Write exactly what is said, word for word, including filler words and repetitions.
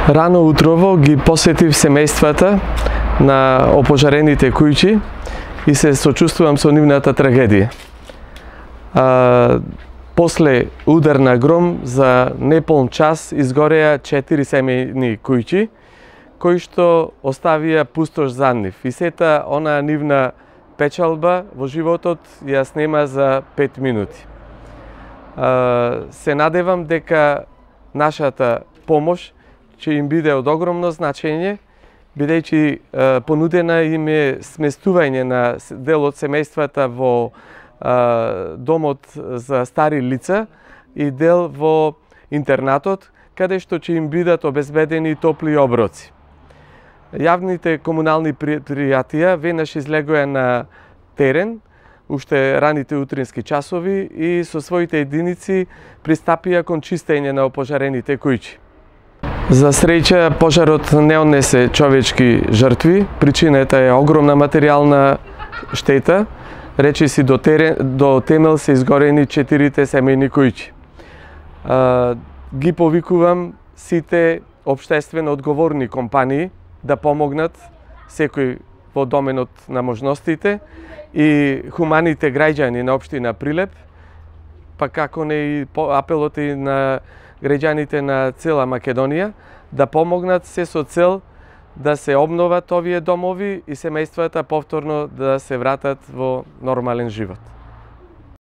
Рано утрово ги посетив семејствата на опожарените куќи и се сочувствувам со нивната трагедија. А, после удар на гром за неполн час изгореа четири семејни куќи кои што оставија пустош за нив и сета онаа нивна печалба во животот ја снема за пет минути. А, се надевам дека нашата помош ќе им биде од огромно значење, бидејќи понудена им е сместување на дел од семејствата во а, домот за стари лица и дел во интернатот, каде што ќе им бидат обезбедени топли оброци. Јавните комунални предпријатија веднаш излегоа на терен, уште раните утрински часови и со своите единици пристапија кон чистење на опожарените куќи. За среќа, пожарот не однесе човечки жртви, причината е огромна материјална штета, речиси до, терен, до темел се изгорени четирите семејни куќи. Ги повикувам сите општествено одговорни компании да помогнат секој во доменот на можностите и хуманите граѓани на општина Прилеп, па како не и апелот и на граѓаните на цела Македонија да помогнат се со цел да се обноват овие домови и семејствата повторно да се вратат во нормален живот.